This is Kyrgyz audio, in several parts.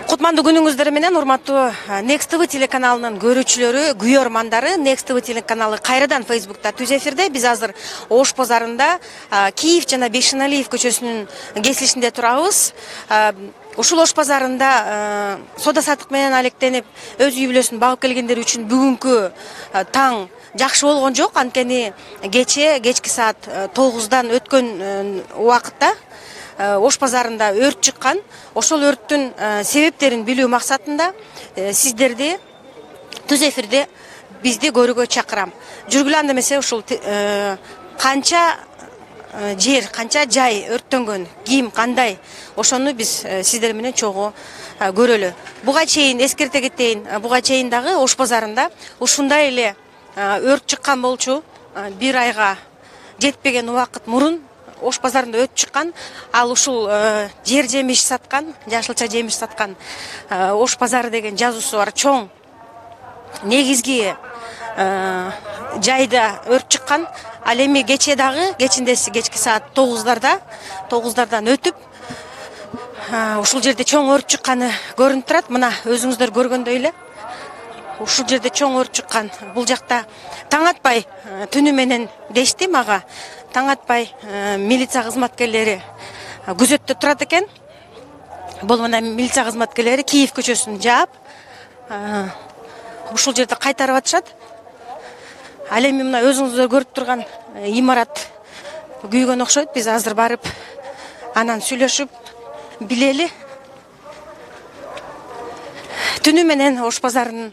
Кутмандуу күнүңүздөр менен урматтуу Next TV телеканалынын көрүүчүлөрү, күйөрмандары. Next TV телеканалы кайрадан Facebook'та түз эфирде. Биз азыр Ош базарында Киев жана Бейшеналиев көчөсүнүн кесилишинде турабыз. Ушул Ош базарында соода саттык менен алектенип, өз үй бүлөсүн багып келгендер үчүн бүгүнкү таң жакшы болгон жок. Анткени кечки саат 9-дан өткөн убакытта Ош базарында өрт чыккан. Ошол өрттүн себептерин билүү максатында сиздерди түз эфирде бизди көрүүгө чакырам. Жүргүлө анда эмесе ушул канча жер, канча жай өрттөнгөн, ким кандай, ошону биз сиздер менен чогуу көрөлү. Буга чейин эскерте кетейин, буга чейин дагы Ош базарында ушундай эле өрт чыккан болчу. Бир айга жетпеген убакыт мурун Ош базарында өрт чыккан. Ал ушул жер жемиш саткан, жашылча жемиш саткан Ош базары деген жазуусу бар чоң негизги жайда өрт чыккан. Ал эми кече дагы, кечиндеси кечки саат 9-дардан өтүп, ушул жерде чоң өрт чыкканы көрүнүп турат. Мына өзүңүздөр көргөндөй эле ушул жерде чоң өрт чыккан. Бул жакта таң атпай түнү менен дешти мага. Таң атпай милиция кызматкерлери күзөттө турат экен. Бул мына милиция кызматкерлери Киев көчөсүн жаап, ушул жерде кайтарып атышат. Ал эми мына өзүңүздөр көрүп турган имарат күйгөн окшойт. Биз азыр барып анан сүйлөшүп билели. Түнү менен Ош базарын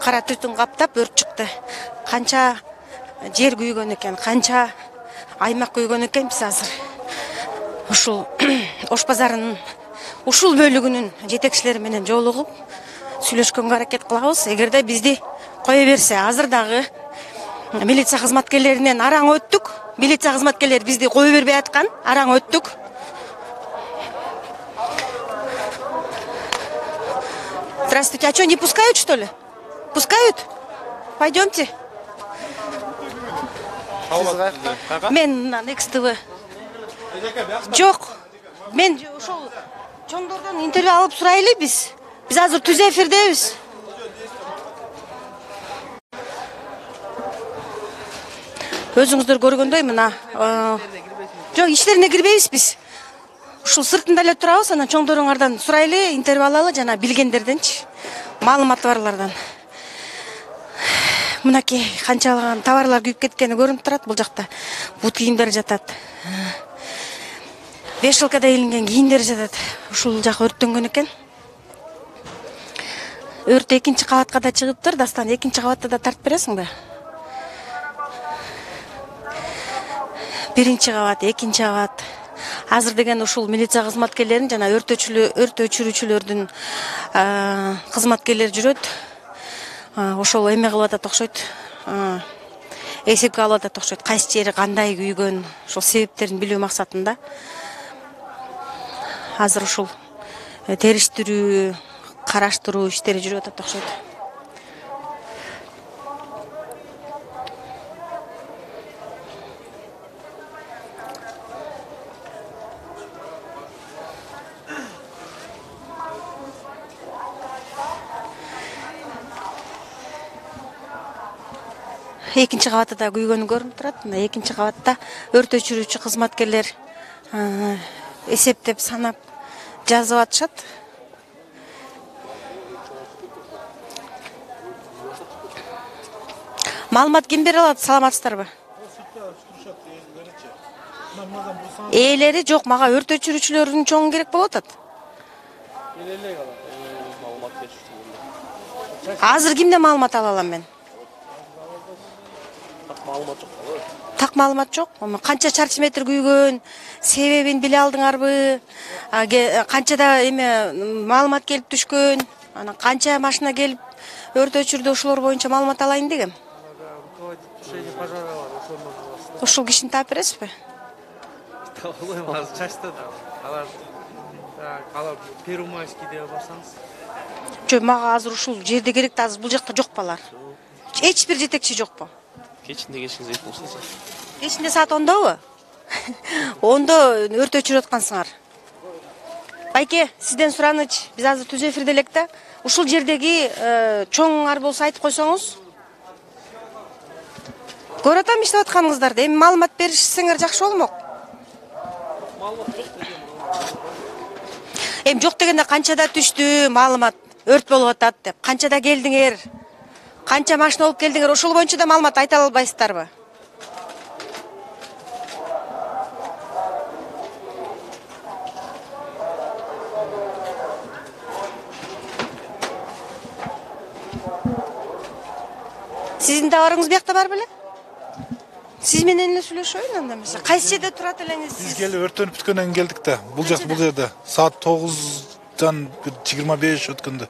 кара түтүн каптап өрт чыкты. Канча жер күйгөн экен, канча аймак күйгөн экен. Биз азыр ушул Ош базарынын ушул бөлүгүнүн жетекчилери менен жолугуп сүйлөшкөнгө аракет кылабыз. Эгерде бизди кое берсе, азыр дагы милиция кызматкерлеринен араң өттүк. Милиция кызматкерлери бизди кое бербей аткан, араң өттүк. Здравствуйте, а что, не пускают, что ли? Пускают? Пойдемте. Мен Next TV. Жок. Мен ошол чоңдордон интервью алып сурайлы биз. Биз азыр түз эфирдебиз. Өзүңүздөр көргөндөй мына жок, ичтерине кирбейбиз биз. Ушул сыртында эле турабыз, анан чоңдоруңардан сурайлы, интервью алалы, жана билгендерденчи, маалыматы барлардан. Мынакей канчалаган товарлар күйүп кеткени көрүнүп турат. Бул жакта бут кийимдер жатат. Вешалкада илинген кийимдер жатат. Ушул жак өрттөнгөн экен. Өрт экинчи кабатка да чыгыптыр. Дастан экинчи кабатта да тартып бересиңби? Биринчи кабат, экинчи кабат. Азыр деген ушул милиция кызматкерлерин жана өрт өчүрүүчүлөрдүн кызматкерлери жүрөт. Ошол эме кылып атат окшойт. Эсепке алып атат окшойт. Кайсы жери кандай күйгөн, ошол себептерин билүү максатында. Азыр ушул териштирүү, караштыруу иштери жүрүп атат окшойт. Экинчи кабатта да күйгөнү көрүнүп турат. Мына экинчи кабатта өрт өчүрүүчү кызматкерлер эсептеп, санап жазып атышат. Маалымат ким бере алат? Саламатсыздарбы? Ээлери жок, мага өрт өчүрүүчүлөрдүн чоңу керек болуп атат. Азыр кимден маалымат ала алам мен? Так маалымат жок. Канча чарчы метр күйгөн, себебин биле алдыңарбы? Канчада эме маалымат келип түшкөн? Анан канча машина келип өрт өчүрдү, ошолор боюнча маалымат алайын дегем. Ошол кишини таап бересизби? Первомайскийде барсаңыз. Жок, мага азыр ушул жерде керек да, азыр бул жакта жок балар. Эч бир жетекчи жокпу? Кечинде келишиңиз керек болсо. Кечинде саат 10добу? 10до өрт өчүрүп аткансыңар. Байке, сизден сураныч. Биз азыр түз эфирде элек да. Ушул жердеги чоңуңар болсо айтып койсоңуз. Көрүп атам иштеп атканыңыздарды. Эми маалымат беришсеңер жакшы болмок. Эми жок дегенде канчада түштү маалымат өрт болуп атат деп. Канчада келдиңер? Канча машина алып келдиңер? Ошол боюнча да маалымат айта албайсыздарбы? Сиздин товарыңыз биякта бар беле? Сиз менен эле сүйлөшөйүн анда эмесе. Кайсы жерде турат элеңиз сиз? Биз келип өрттөнүп бүткөндөн кийин келдик да. Бул жерде саат 9-дан 25 өткөндө.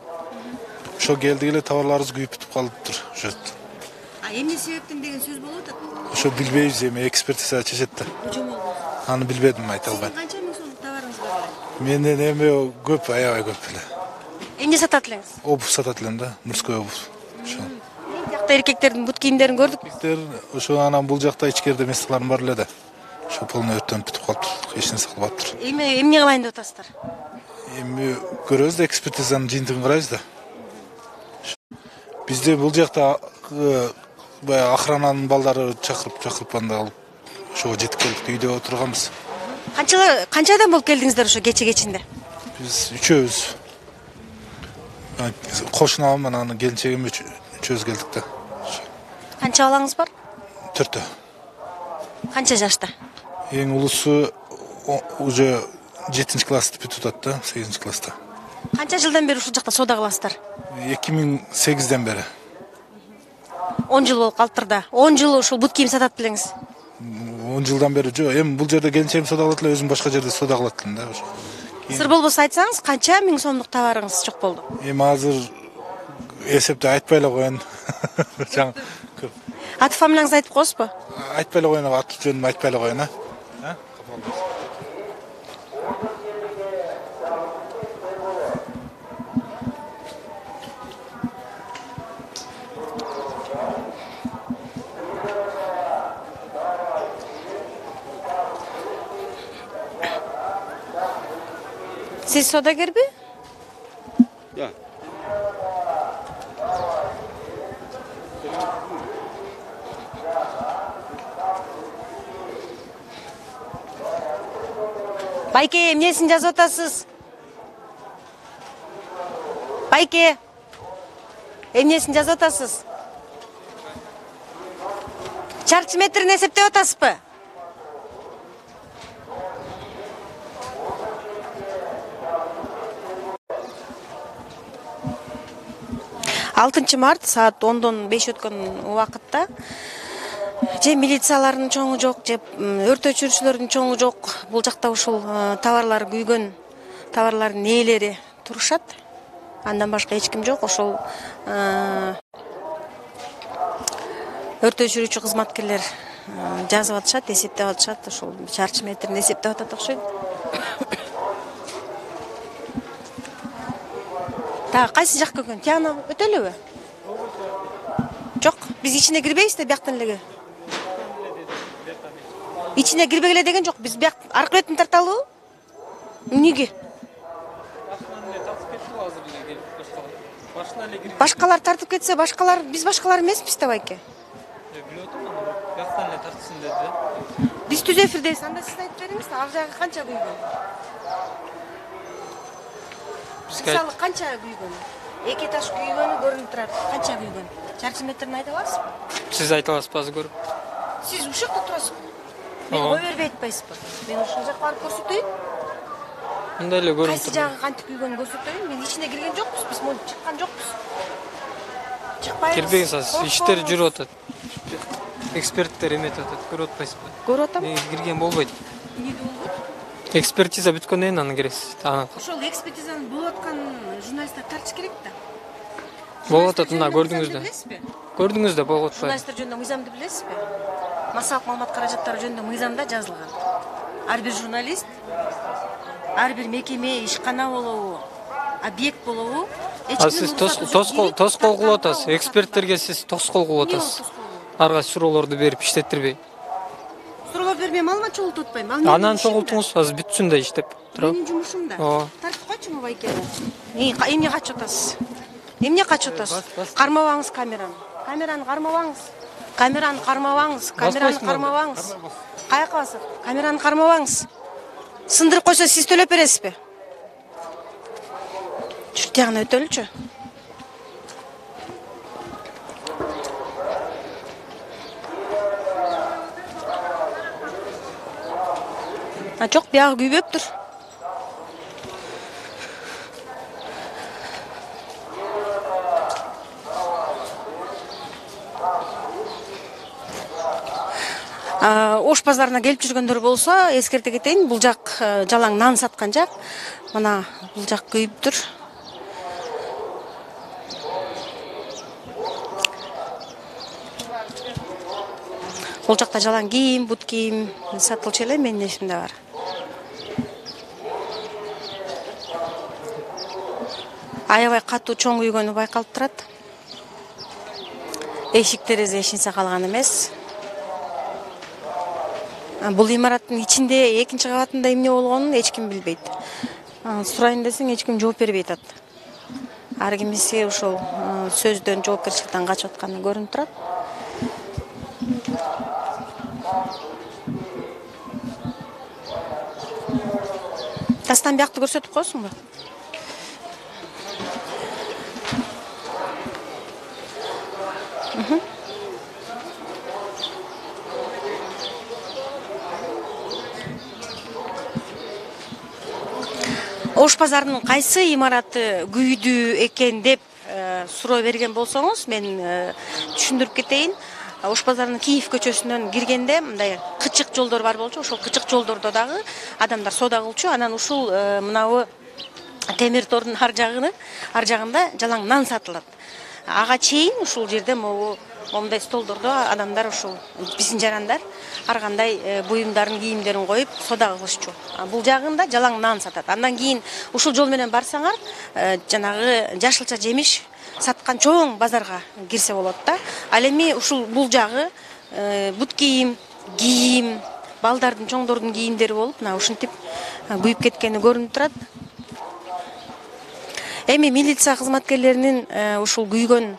Ошо келдик эле товарларыбыз күйүп бүтүп калыптыр. Ошо. Эмне себептен деген сөз болуп атат? Ошо билбейбиз эми экспертиза чечет да. Аны билбедим, айта албайм. Канча миң сомдук товарыңыз бар? Менен эми көп, аябай көп эле. Эмне сатат элеңиз? Обувь сатат элем да, мужской обувь. Ошо. Жакта эркектердин бут кийимдерин көрдүк. Ошо анан бул жакта ичкерде месталарым бар эле да. Ошо полный өрттөнүп бүтүп калыптыр. Эч нерсе калбаптыр. Эмне кылайын деп атасыздар? Эми көрөбүз да, экспертизанын жыйынтыгын карайбыз да. Бизде бул жакта баягы охрананын балдары чакырып анда алып ошого жетип келдик, үйдө отурганбыз. Канча адам болуп келдиңиздер ошо кечинде? Биз үчөөбүз. Кошунам менен келинчегим үчөөбүз келдик да. Канча балаңыз бар? 4тө. Канча жашта? Эң улусу уже 7-классты бүтүп атат да, 8-класста. Канча жылдан бери ушул жакта соода кыласыздар? 2008-ден бери. 10 жыл болуп калыптыр да. 10 жыл ушул бут кийим сатат белеңиз? 10 жылдан бери жок. Эми бул жерде келинчегим соода кылат эле, өзүм башка жерде соода кылат элем да. Сыр болбосо айтсаңыз, канча миң сомдук товарыңыз жок болду? Эми азыр эсепти айтпай эле коеюн. Көп. Аты фамилияңызды айтып коесузбу? Айтпай эле коеюн, аты жөнүмдү айтпай эле коеюн, а? Siz sodagirbi? Да. Байке, эмнесин жазып атасыз? Байке, эмнесин жазып атасыз? Чарчы метрин эсептеп атасызбы? 6 март саат 10-дон 5 өткөн убакытта же милициялардын чоңу жок, же өрт өчүрүүчүлөрдүн чоңу жок. Бул жакта ушул товарлар күйгөн товарлардын ээлери турушат. Андан башка эч ким жок. Ошол өрт өчүрүүчү кызматкерлер жазып атышат, эсептеп атышат. Ошол чарчы метрин эсептеп атат окшойт. Та кайсы жак көргөн? Тияна өтөлөбү? Жок, биз ичине кирбейбиз да, бияктан эле. Ичине кирбегиле деген жок. Биз бияк аркы бетин тарталыбы? Эмнеге? Башкалар тартып кетсе, башкалар биз башкалар эмеспиз да, байке. Билип атам, аны бияктан эле тартсын деди да. Биз түз эфирдебиз, анда сиз айтып бериңиз, ал жагы канча күйгөн? Мисалы канча күйгөн? 2 этаж күйгөнү көрүнүп турат. Канча күйгөн? Чарчы метрин айта аласызбы? Сиз айта аласызбы азыр көрүп? Сиз ушул жакта турасызбы? Мен кой бербей айтпайсызбы? Мен ушул жакка барып көрсөтөйүн. Мындай эле көрүнүп Кайсы жагы кантип күйгөнүн көрсөтөйүн. Мен ичине кирген жокпуз, биз монтип чыккан жокпуз. Чыкпайбыз. Кирбеңиз азыр, иштер жүрүп атат. Эксперттер эметип атат, көрүп атпайсызбы? Көрүп атам. Кирген болбойт. Эмне болду? Экспертиза бүткөндөн кийин аны киресиз. Ошол экспертизаны болуп аткан журналисттер тартыш керек да. Болуп атат, мына көрдүңүз да. Көрдүңүз да, болуп атпайбы? Журналисттер жөнүндө мыйзамды билесизби? Массалык маалымат каражаттары жөнүндө мыйзамда жазылган. Ар бир журналист, ар бир мекеме, ишкана болобу, объект болобу, Сиз тоскоол кылып атасыз. Эксперттерге сиз тоскоол кылып атасыз. Ар кайсы суроолорду берип иштеттирбей. Суроолор жооп бербейм, алма чогултуп атпайм. Анан чогултуңуз, азыр бүтсүн да иштеп туруп. Менин жумушум да. Ооба. Тартып койчуңу байкени. Эмне качып атасыз? Эмне качып атасыз? Кармабаңыз камераны. Камераны кармабаңыз. Камераны кармабаңыз. Камераны кармабаңыз. Каяка басат? Камераны кармабаңыз. Сындырып койсо сиз төлөп бересизби? Чүр тягына өтөлүчү. Жок, биягы күйбөптүр. Ош базарына келип жүргөндөр болсо, эскерте кетейин, бул жак жалаң нан саткан жак. Мына бул жак күйүптүр. Бул жакта жалаң кийим, бут кийим сатылчу эле, менин эсимде бар. Аябай катуу чоң күйгөнү байкалып турат. Эшик терезе эчинсе калган эмес. Бул имараттын ичинде экинчи кабатында эмне болгонун эч ким билбейт. Сурайын десең эч ким жооп бербей атат. Ар кимиси ушул сөздөн, жоопкерчиликтен качып атканы көрүнүп турат. Тастан биякты көрсөтүп коесуңбу? Ош базарынын кайсы имараты күйдү экен деп суроо берген болсоңуз, мен түшүндүрүп кетейин. Ош базарынын Киев көчөсүнөн киргенде мындай кычык жолдор бар болчу. Ошол кычык жолдордо дагы адамдар соода кылчу. Анан ушул мынабу темир тордун ар жагында жалаң нан сатылат. Ага чейин ушул жерде момундай столдордо адамдар ушул биздин жарандар ар кандай буюмдарын, кийимдерин коюп соода кылышчу. Бул жагында жалаң нан сатат. Андан кийин ушул жол менен барсаңар, жанагы жашылча жемиш саткан чоң базарга кирсе болот да. Ал эми ушул бул жагы бут кийим, балдардын, чоңдордун кийимдери болуп, мына ушинтип күйүп кеткени көрүнүп турат. Эми милиция кызматкерлеринин ушул күйгөн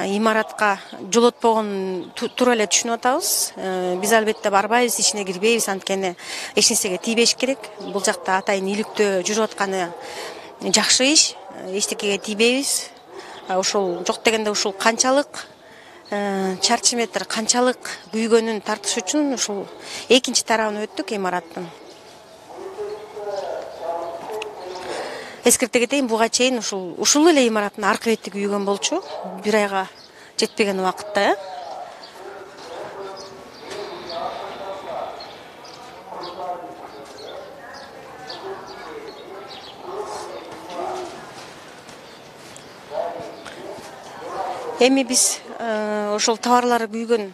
имаратка жолотпогонун туура эле түшүнүп атабыз. Биз албетте барбайбыз, ичине кирбейбиз, анткени эч нерсеге тийбеш керек. Бул жакта атайын иликтөө жүрүп атканы жакшы иш, эчтекеге тийбейбиз. Ушул жок дегенде ушул канчалык чарчы метр, канчалык күйгөнүн тартыш үчүн ушул экинчи тарабына өттүк имараттын. Эскерте кетейин, буга чейин ушул эле имараттын аркы бети күйгөн болчу. Бир айга жетпеген убакытта. Эми биз ошол товарлары күйгөн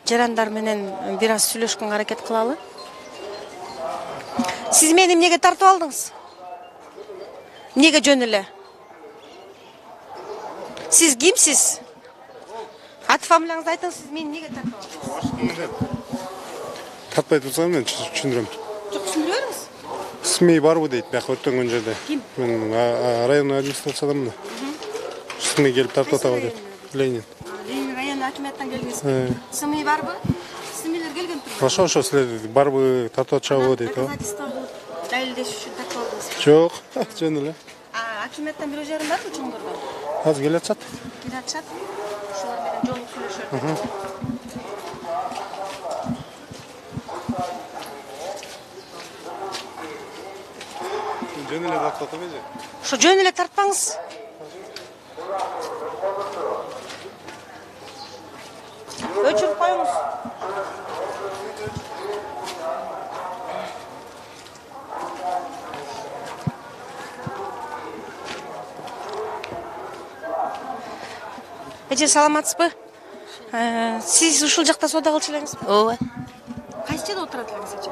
жарандар менен бир аз сүйлөшкөнгө аракет кылалы. Сиз мени эмнеге тартып алдыңыз? Эмнеге жөн эле? Сиз кимсиз? Аты фамилияңызды айтыңыз, сиз мени эмнеге тартып алдыңыз? Тартпай турсам мен түшүндүрөм. Жок, түшүндүрө бериңиз. СМИ барбы дейт, бияка өткөн жерде. Ким? Мен районный администрациядамын. СМИ келип тартып атабы дейт. Ленин. Ленин райондук акиматтан келдиңизби? СМИ барбы? СМИлер келген турбу? Ошо силер барбы тартып атышабы дейт. Доказательство кылып далилдеш үчүн тартып алдыңызбы? Жок, жөн эле. Акиматтан бирөө жарым барбы чоңдордон? Азыр келе атышат. Келе атышат. Ошолор менен жолугуп сүйлөшөт. Жөн эле тартып атабы? Ошо жөн эле тартпаңыз. Өчүрүп коюңуз. Эже, саламатсызбы? Сиз ушул жакта соода кылчу элеңизби? Ооба. Кайсы жерде отурат элеңиз эже?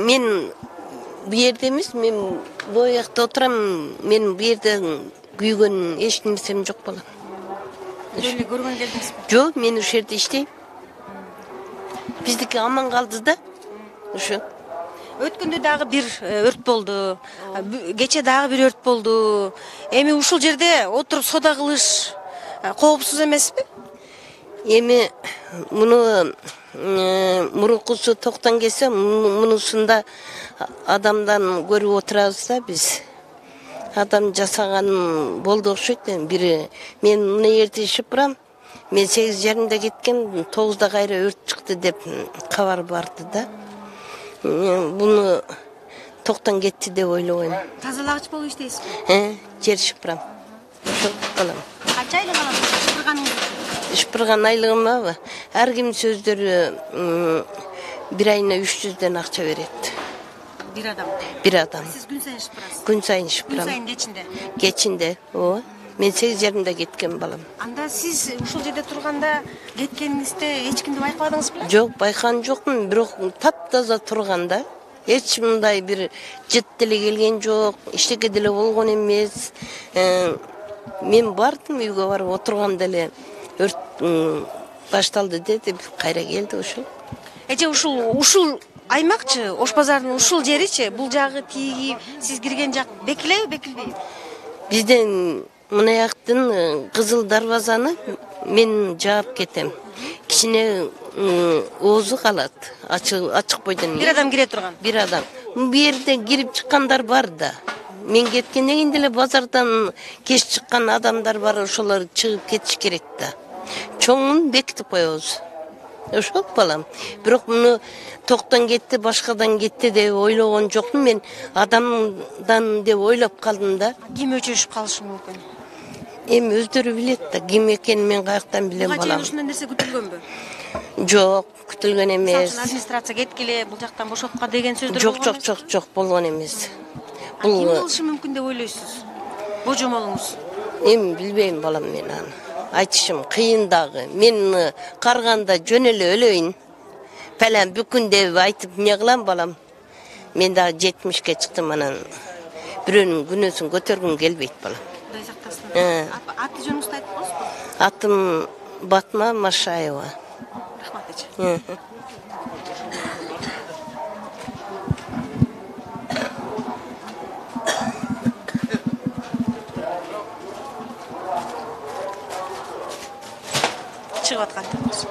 Мен бу жерде эмес, мен бул жакта отурам. Мен бу жерде күйгөн эч нерсем жок болот. Эле көргөн келдиңизби? Жок, мен ушул жерде иштейм. Биздики аман калды да. Ошо. Өткөндө дагы бир өрт болду. Кече дагы бир өрт болду. Эми ушул жерде отуруп соода кылыш коопсуз эмеспи? Эми муну мурукусу токтон келсе, мунусунда адамдан көрүп отурабыз да биз. Адам жасаган болду окшойт. Бири мен мына жерде ишип барам. Мен 8:30 кеткен, 9 кайра өрт чыкты деп кабар барды да. Буну токтон кетти деп ойлобойм. Тазалагыч болуп иштейсизби? Жер шыпырам. Ошо калам. Канча айлык аласыз шыпырганыңыз? Шыпырган айлыгыма ар ким сөздөрү бир айына 300ден акча берет. Бир адам. Бир адам. Сиз күн сайын шыпырасыз? Күн сайын Күн шыпырам. сайын кечинде. Кечинде, ооба. Мен 8:30 кеткен балам. Анда сиз ушул жерде турганда кеткениңизде эч кимди байкабадыңыз беле? Жок, байкаган жокмун, бирок таптаза турганда эч мындай бир жыт деле келген жок, эчтеке деле болгон эмес. Мен бардым үйгө барып отурганда эле өрт башталды деп кайра келди ошол. Эже ушул аймакчы, Ош базарынын ушул жеричи, бул жагы тиги сиз кирген жак бекилеби, бекилбейби? Бизден мына жактын Кызыл дарбазаны мен жаап кетем. Кичине оозу калат, ачык бойдон. Бир адам кире турган. Бир адам. Бу жерде кирип чыккандар бар да. Мен кеткенден кийин деле базардан кеч чыккан адамдар бар, ошолор чыгып кетиш керек да. Чоңун бекитип коебуз. Ошол балам. Бирок муну токтон кетти, башкадан кетти деп ойлогон жокмун. Мен адамдан деп ойлоп калдым да. Ким өчүрүшүп калышы мүмкүн? Эми өздөрү билет да, ким экенин мен каяктан билем Буга чейин балам. ушундай нерсе күтүлгөнбү? Жок, күтүлгөн эмес. Администрация кеткиле, бул жактан бошотко деген сөздөр Жок, болгон эмес. Ким болушу мүмкүн деп ойлойсуз? Божомолуңуз? Эми билбейм балам мен аны. Айтышым кыйын дагы. Мен карганда жөн эле өлөйүн. Фалан бүкүн деп айтып эмне кылам балам? Мен дагы 70ке чыктым, анан бирөөнүн күнөөсүн көтөргүм келбейт балам. Кудай сактасын. Аты жөнүңүздү айтып коесузбу? Атым Батма Машаева. Рахмат эже. Чыгып аткандырбыз.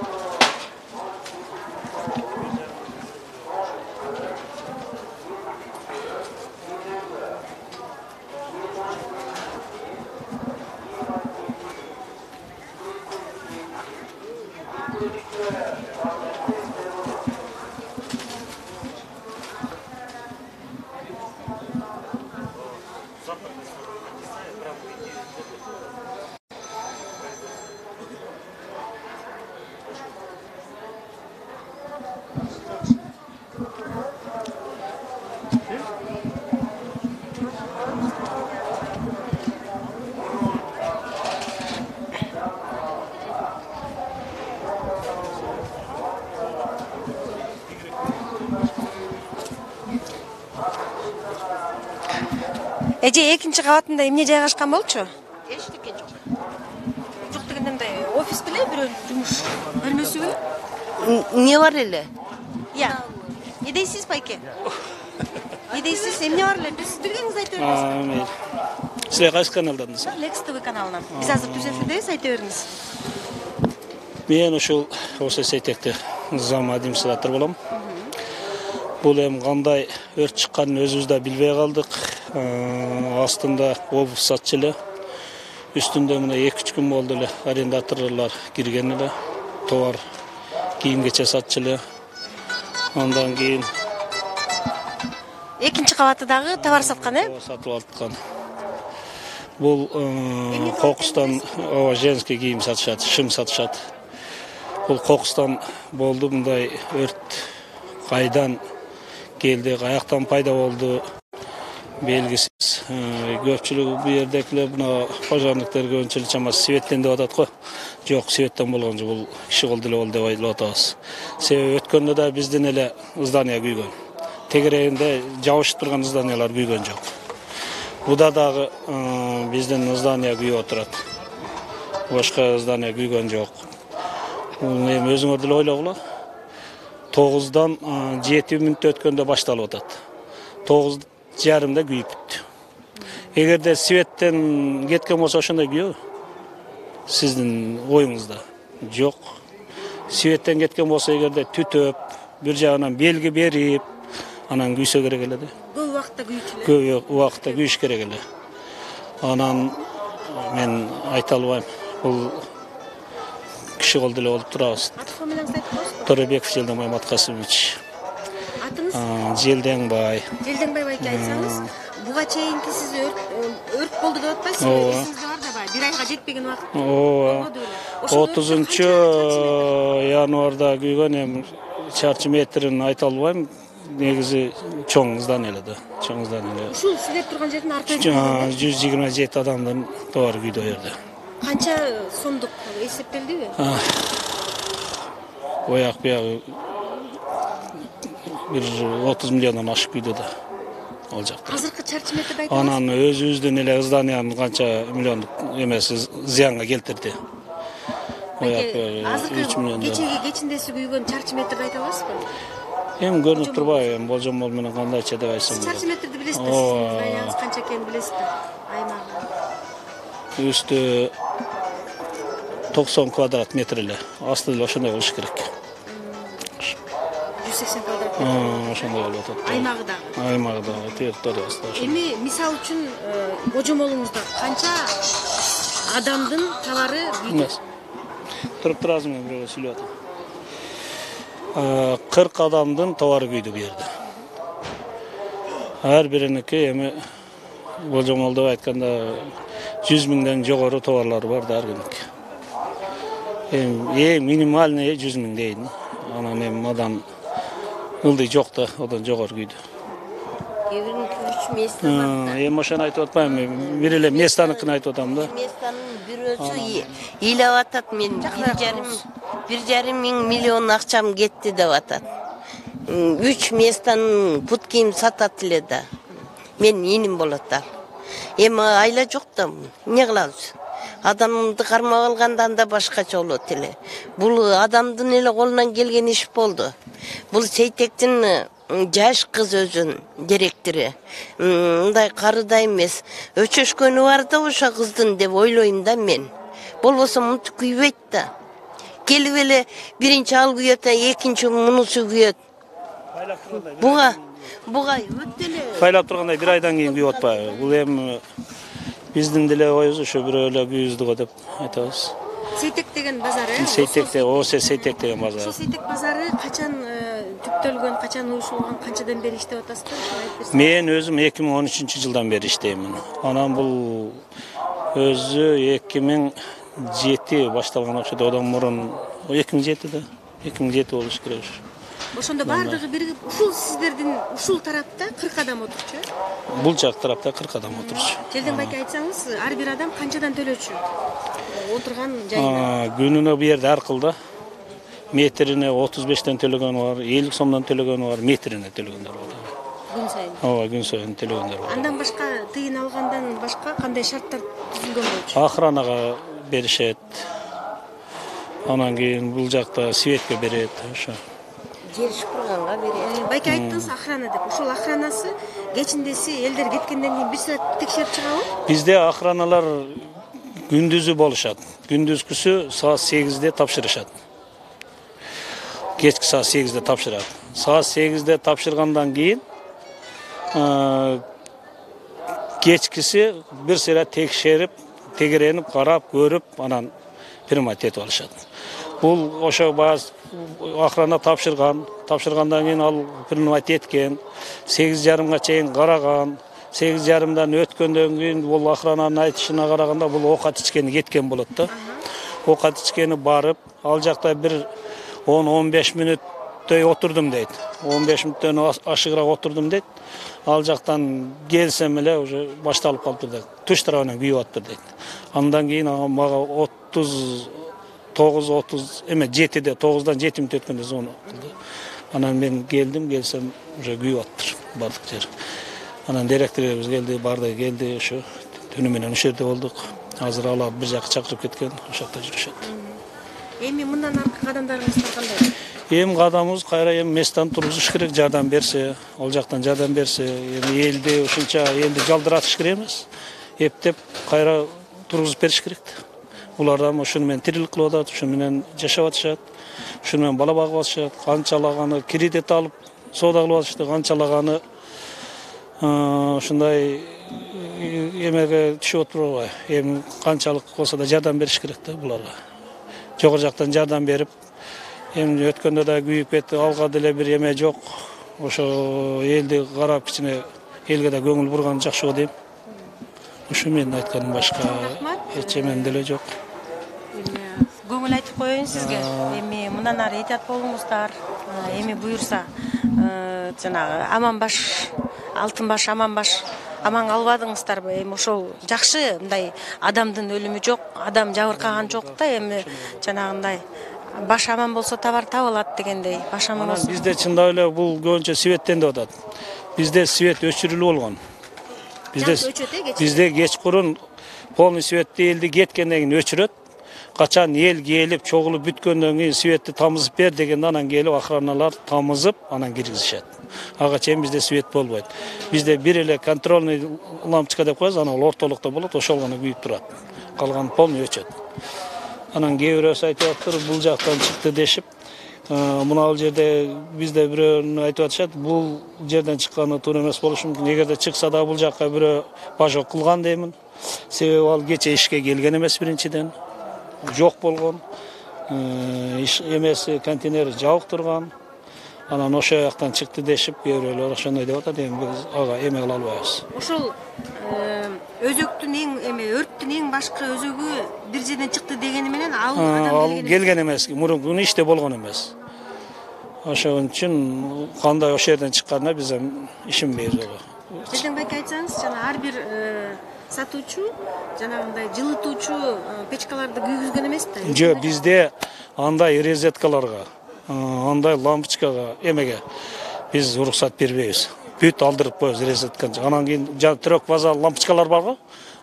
Эже экинчи кабатында эмне жайгашкан болчу? Эчтеке жок. Жок дегенде мындай офис беле бирөө жумуш бөлмөсүбү? Не бар эле? Не дейсиз байке? Не дейсиз? Эмне бар эле? Биз билгениңизди айта бериңиз. Силер кайсы каналдандыңыз? Лекс ТВ каналынан. Биз азыр түз эфирдебиз, айта бериңиз. Мен ушул Сейтекте зам администратор болом. Бул эми кандай өрт чыкканын өзүбүз да билбей калдык. Астында обувь сатчу эле. Үстүндө мына 2-3 күн болду эле арендаторлор кирген эле. Товар кийим-кече сатчу эле. Андан кийин Экинчи кабаты дагы товар саткан, сатып алткан. Бул кокустан женский кийим сатышат, шым сатышат. Бул кокустан болду, мындай өрт кайдан келди, каяктан пайда болду белгисиз. Көпчүлүгү бу жердекилер мына пожарниктер көбүнчө чамасы светтен деп атат го. Жок, светтен болгон жок, бул киши кол деле болду деп айтып атабыз. Себеби өткөндө да биздин эле здание күйгөн. Тегерегинде жабышып турган зданиялар күйгөн жок. Буда дагы биздин здание күйүп отурат. Башка здание күйгөн жок. Эми өзүңөр деле ойлогула. 9-дан 7 мүнөт өткөндө башталып атат. 9:30 күйүп бүттү. Эгерде светтен кеткен болсо ошондой күйөө сиздин оюңузда жок. Светтен кеткен болсо эгерде түтөп, бир жагынан белги берип, анан күйсө керек эле да. Көп убакытта күйчү эле. Көп убакытта күйүш керек эле. Анан мен айта албайм. Бул киши колдо эле болуп турабыз. Аты фамилияңызды айтып коесузбу? Торебеков Желденбай Маткасымович. Атыңыз? Желденбай. Желденбай байке айтсаңыз, буга чейинки сиз өрт болду деп атпайсызбы? Эсиңизде бар да баягы 1 айга жетпеген убакыт. Ооба. 30-январда күйгөн, эми чарчы метрин айта албайм. Негизи чоң здан эле да. Чоң здан эле. Ушул сиздер турган жердин арты 127 адамдын товары күйдү о жерде. канча сомдук эсептелдиби? Ояк бuyagы бир 30 миллиондон ашып күйдү да. Ал жакта. Азыркы чарчы метрди айтыңыз? Анан өзүбүздүн эле зданиянын канча миллиондук эмеси зыянга келтирди. Азыркы кечеги кечиндеси күйгөн чарчы метрди айта аласызбы? Эми көрүнүп турбайбы, эми болжомол менен кандайча деп айтсам. Чарчы метрди билесизби? Зданияңыз канча экенин билесизби? Аймагы. Үстү 90 квадрат метр эле. Асты эле ошондой болуш керек. 180 квадрат метр. Ошондой болуп атат. Аймагы дагы. Аймагы дагы территориясы да. Эми мисал үчүн божомолуңузда канча адамдын товары күйдү? Туруп турасың, мен бирөө сүйлөп атам. 40 адамдын товары күйдү бу жерде. Ар бириники эми божомолдоп айтканда 100 миңден жогору товарлар бар да ар күнүк. Эми минимальный 100 миң дейин. Анан эми мадан ылдый жок да, одан жогору күйдү. Кээ бириники 3 места бар. Эми ошону айтып атпайм, бир эле местаныкын айтып атам да. Местанын бирөөсү ыйлап атат, мен 1,5 миллион акчам кетти деп атат. 3 местанын пут кийим сатат эле да. Мен иним болот ал. Эми айла жок да, эмне кылабыз? Адамды кармап алгандан да башкача болот эле. Бул адамдын эле колунан келген иш болду. Бул Сейтектин жаш кыз өзүнүн директору. Мындай карыда эмес, өчөшкөнү бар да ошо кыздын деп ойлойм да мен. Болбосо мынтип күйбөйт да. Келип эле биринчи ал күйөт, экинчи мунусу күйөт. Буга өтө эле Кайлап тургандай бир айдан кийин күйүп атпайбы? Бул эми биздин деле оюбуз ошо бирөө эле күйүздү го деп айтабыз. Сейтек деген базар, Сейтекте, Сейтек деген базар. Ошол Сейтек базары качан түптөлгөн, качан уюшулган, канчадан бери иштеп атасызбы? Айтып берсеңиз. Мен өзүм 2013-жылдан бери иштеймин. Анан бул өзү 2007 башталган окшойт, одан мурун 2007 да. 2007 болуш керек. Ошондо баардыгы биригип, ушул сиздердин ушул тарапта 40 адам отурчу. Бул жак тарапта 40 адам отурчу. Желденбайке айтсаңыз, ар бир адам канчадан төлөчү? Отурган жайына. Күнүнө бу жерде ар кылда. Метрине 35тен төлөгөнү бар, 50 сомдон төлөгөнү бар, метрине төлөгөндөр бар. Күн сайын. Ооба, күн сайын төлөгөндөр бар. Андан башка тыйын алгандан башка кандай шарттар түзүлгөн болчу? Охранага беришет. Анан кийин бул жакта светке берет, ошо. жер шыпырганга берет. Байке айттыңыз охрана деп. Ошол охранасы кечиндеси элдер кеткенден кийин бир саат текшерип чыгабы? Бизде охраналар күндүзү болушат. Күндүзгүсү саат 8-де тапшырышат. Кечки саат 8-де тапшырат. Саат 8-де тапшыргандан кийин кечкиси бир сыйра текшерип, тегеренип, карап, көрүп, анан примат этип алышат. Бул ошо бааз охрана тапшыргандан кийин ал примат эткен, 8:30га чейин караган. 8:30дан өткөндөн кийин бул охрананын айтышына караганда бул оокат ичкени кеткен болот да. Оокат ичкени барып, ал жакта бир 10-15 мүнөттөй отурдум дейт. 15 мүнөттөн ашыгыраак отурдум дейт. Ал жактан келсем эле уже башталып калыптыр дейт. Туш тарабынан күйүп атыптыр дейт. Андан кийин мага 7-де 9-дан 7 мүнөт өткөндө звонок кылды. Анан мен келсем уже күйүп атыптыр бардык жер. Анан директорубуз келди, барды келди, ошо түнү менен ошол жерде болдук. Азыр алар бир жака чакырып кеткен, ошол жакта жүрүшөт. Эми мындан аркы кадамдарыңыздар кандай? Эми кадамыбыз кайра эми месттен тургузуш керек, жардам берсе, ол жактан жардам берсе, эми элди ушунча элди жалдыратыш керек эмес. Эптеп кайра тургузуп бериш керек. Булар да ушуну менен тирилик кылып атат, ушуну менен жашап атышат, ушуну менен бала багып атышат, канчалаганы кредит алып соода кылып атышты, канчалаганы ушундай эмеге түшүп отурбайбы. Эми канчалык болсо да жардам бериш керек да буларга. Жогору жактан жардам берип, эми өткөндө да күйүп кетти, алга деле бир эме жок. Ошо элди карап кичине элге да көңүл бурган жакшы го дейм. Ушу менин айтканым, башка эч эмен деле жок. Көңүл айтып коеюн сизге. Эми мындан ары этият болуңуздар. Эми буюрса жанагы аман баш, алтын баш, аман баш аман калбадыңыздарбы? Эми ошол жакшы, мындай адамдын өлүмү жок, адам жабыркаган жок да. Эми жанагындай баш аман болсо товар табылат дегендей. Баш аман болсо. Бизде чындап эле бул көбүнчө светтен деп атат. Бизде свет өчүрүлүп болгон. Бизде кечкурун полный светти элди кеткенден кийин өчүрөт. Качан эл келип чогулуп бүткөндөн кийин светти тамызып бер дегенде анан келип охраналар тамызып анан киргизишет. Ага чейин бизде свет болбойт. Бизде бир эле контрольный лампочка деп коебуз, анан ортолукта болот, ошол гана күйүп турат. Калган полный өчөт. Анан кээ бирөөсү айтып атыптыр, бул жактан чыкты дешип, мына жерде бизде бирөө айтып атышат, бул жерден чыкканы туура эмес болушу мүмкүн. Эгерде чыкса да бул жакка бирөө бажок кылган деймин. Себеби ал кече ишке келген эмес биринчиден. Жок болгон. Эмеси контейнер жабык турган. Анан ошол жактан чыкты дешип, кээ бирөөлөр ошондой деп атат. Эми биз ага эме кыла албайбыз. Ошол өзөктүн өрттүн эң башкы өзөгү бир жерден чыкты дегени менен ал келген эмес, мурунку иште болгон эмес. Ошон үчүн кандай ошол жерден чыкканына биз ишенбейбиз ага. Сиздин байке айтсаңыз, жана ар бир сатуучу жанагындай жылытуучу печкаларды күйгүзгөн эмес да? Жок, бизде андай розеткаларга, андай лампочкага, эмеге биз уруксат бербейбиз. Бүт алдырып коебуз розетканы. Анан кийин трёк база лампочкалар барго,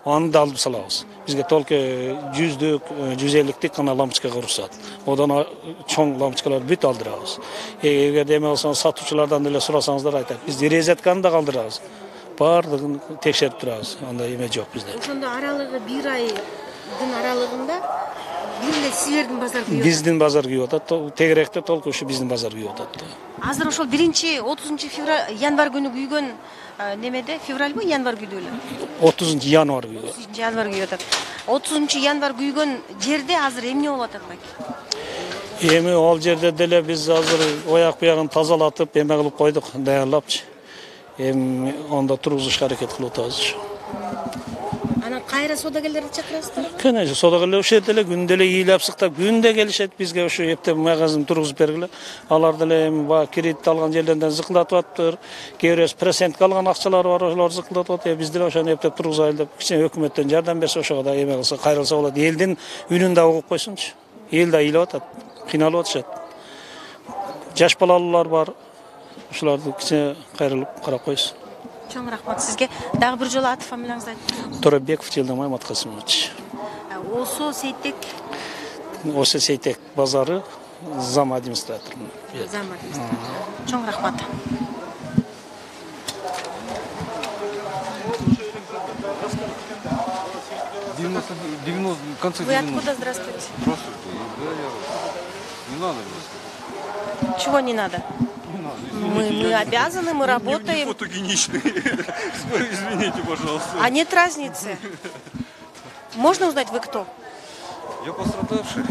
аны да алып салабыз. Бизге только 100-дүк, 150-дик ана лампочкага уруксат. Одан чоң лампочкаларды бүт алдырабыз. Эгерде эме болсо сатуучулардан деле сурасаңыздар айтат. Биз розетканы да калтырабыз. Бардыгын текшерип турабыз. Андай эме жок бизде. Ошондо аралыгы бир айдын аралыгында бир эле силердин базар күйүп атат. Биздин базар күйүп атат. Тегеректе толку ушу биздин базар күйүп атат. Азыр ошол 1-30 январь күнү күйгөн немеде, февральбы, январь күйдү эле? 30 январь күйгөн. 30 январь күйүп атат. 30 январь күйгөн жерде азыр эмне болуп атат байке? Эми ал жерде деле биз азыр ояк буягын тазалатып, эме кылып койдук, даярлапчы. Эми анда тургузушка аракет кылып атабыз. Анан кайра соодагерлерди чакырасыздарбы? Конечно, соодагерлер ошол жерде эле күндө эле ыйлап сыктап, күндө келишет бизге ошо эптеп магазин тургузуп бергиле. Алар деле эми баягы кредит алган жерлерден зыкылдатып атыптыр. Кээ бирөөсү процентке алган акчалар бар, ошолор зыкылдатып атат. Биз деле ошону эптеп тургузайлы деп, кичине өкмөттөн жардам берсе, ошого да эме кылса, кайрылса болот. Элдин үнүн да угуп койсунчу. Эл да ыйлап атат, кыйналып атышат. Жаш балалуулар бар. Ошолорду кичине кайрылып карап койсун. Чоң рахмат сизге. Дагы бир жолу аты фамилияңызды айтыңыз. Торобеков Жылдамай Маткасымович. Осо Сейтек. Осо Сейтек базары зам администратор. Зам администратор. Чоң рахмат. Вы откуда? Здравствуйте. Не надо. Чего не надо? Мы обязаны, мы работаем. Фотогеничный. Извините, пожалуйста. А нет разницы. Можно узнать, вы кто? Я пострадавший.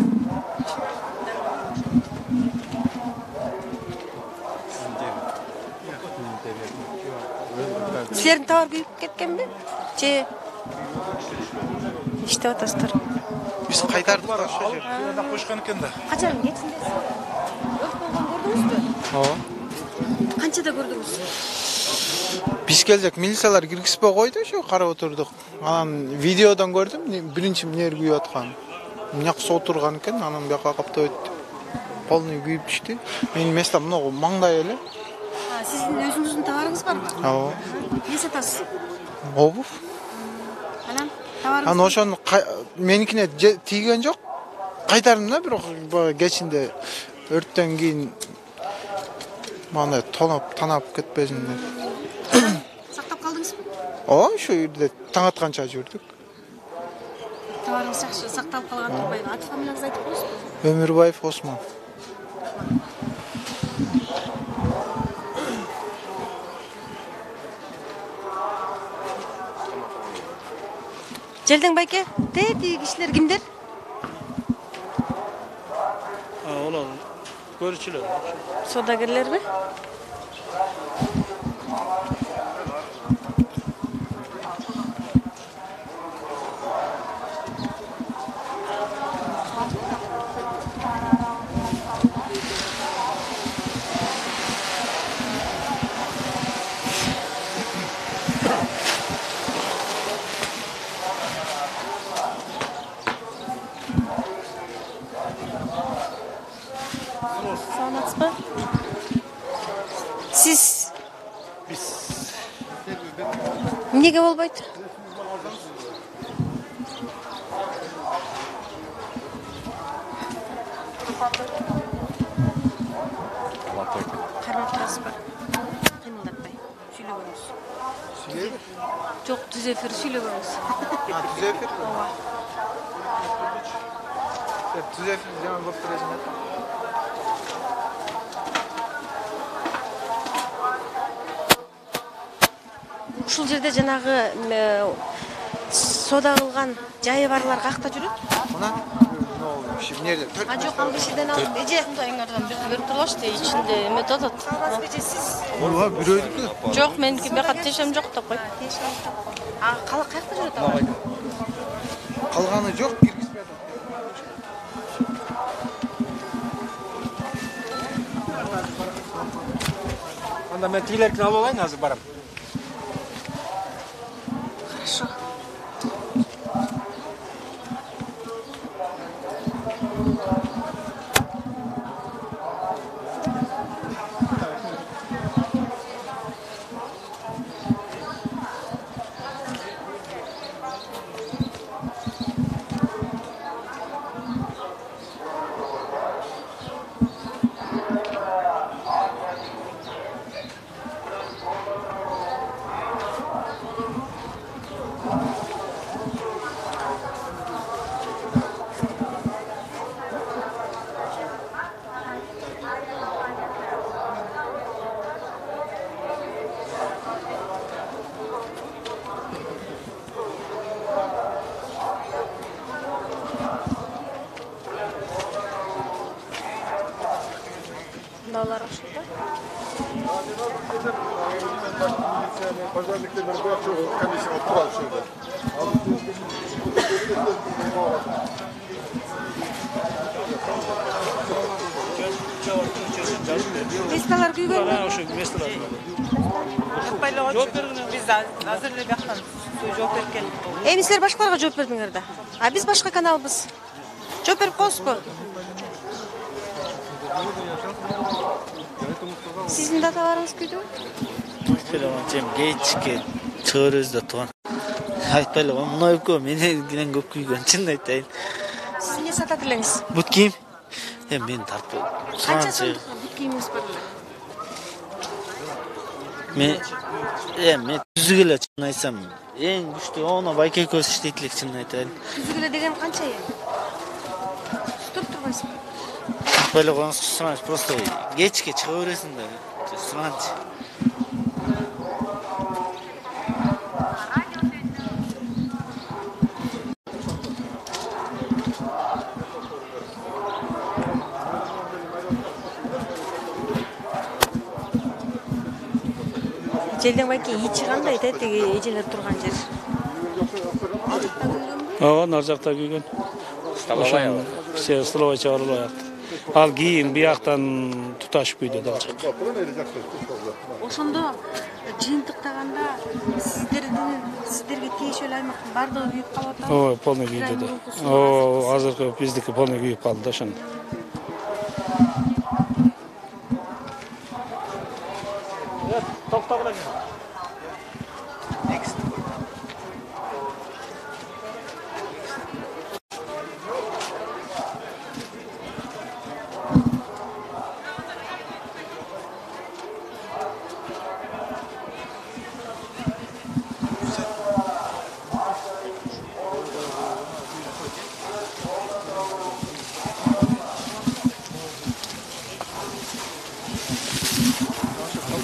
Силердин товар күйүп кеткенби? Же иштеп атасыздар? Биз кайтардык да ошол жерде койшкон экен да. Качан кетсиңиз? Өрт болгон көрдүңүзбү? Ооба. Канчада көрдүңүз? Биз келдик, милициялар киргизбей койду, ошо карап отурдук. Анан видеодон көрдүм, биринчи эмне күйүп аткан. Мынаксы отурган экен, анан бияка каптап өттү. Полный күйүп түштү. Менин местом мына маңдай эле. Сиздин өзүңүздүн товарыңыз барбы? Ооба. Эмне сатасыз? Обув. Анан товарыңыз? Анан ошону меникине тийген жок. Кайтардым да, бирок кечинде өрттөн кийин Мындай танап кетпесин деп. Сактап калдыңызбы? Ооба, ушу жерде таң атканча жүрдүк. Товарыңыз жакшы сакталып калган турбайбы? Аты фамилияңызды айтып коесузбу? Өмүрбаев Осмон. Желден байке, тетиги кишилер кимдер? Олар көрүүчүлөр. Содагерлерби? Саламатсызбы? Сиз эмнеге болбойт? Кармап турасызбы? Кыймылдатпай сүйлөгөнүз. Жок, түз эфир сүйлөгөнүз. Түз эфир? Ооба. Түз эфир жаман болуп турасың. Ушул жерде жанагы сода кылган жайы барлар какта жүрөт? Мына эмнеде? Жок, ал кишиден алып эже. Мындайыңардан бизди берип турбашты, ичинде эмет атат. Саламатсызбы эже, сиз? Ооба, бирөөдүкү. Жок, меники бияка тиешем жок деп кой. Каякта жүрөт алар? Калганы жок, киргизбедим. Анда мен тигилердикин алып алайын, азыр барам. Хорошо. Балалар ошолда. Месталар күйгөнбү? Ошо месталар. Биз азыр эле бияктан жооп берип келдик. Эми силер башкаларга жооп бердиңер да. А биз башка каналбыз. Жооп берип коесузбу? Сиздин да товарыңыз күйдүбү? Айтпайлабан, кечке чыгырыбыз да тууган. Айтпайлабан, мына экөө менен көп күйгөн, чын айтайын. Сиз эмне сатат элеңиз? Бут кийим? Мен тартып. Канча сомдук бут кийимиңиз бар эле? Мен түзүк эле чын айтсам, эң күчтүү оно байке экөөбүз иштейт элек, чын айтайын. Түзүк эле деген канча эми? Туруп турбайсызбы? Айтпайлабан сураңыз, просто кечке чыга бересиң да, сураңыз. Желден байке ичи кандай тетиги эжелер турган жер? Ооба, нар жакта күйгөн. Столовой чыгарылып атат. Ал кийин бияктан туташып күйдү да. Ошондо жыйынтыктаганда сиздерге тиешелүү аймактын бардыгы күйүп калып атабы? Ооба, полный күйдү да. Ооба, азыркы биздики полный күйүп калды да ошондо. Токтогула.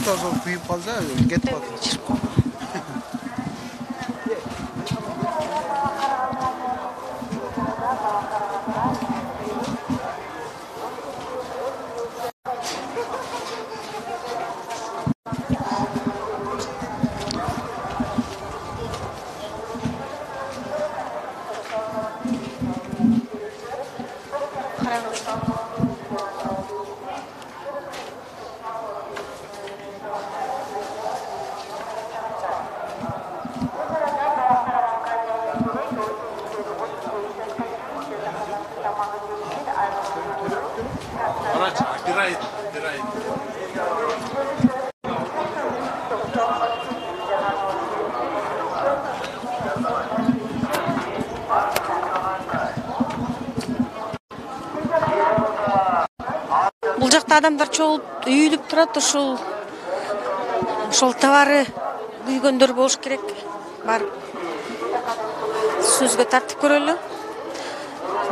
Просто күйүп калса кетип калат. Бул жакта адамдар чогулуп үйүлүп турат, ошол товары күйгөндөр болуш керек. Барып сөзгө тартып көрөлү.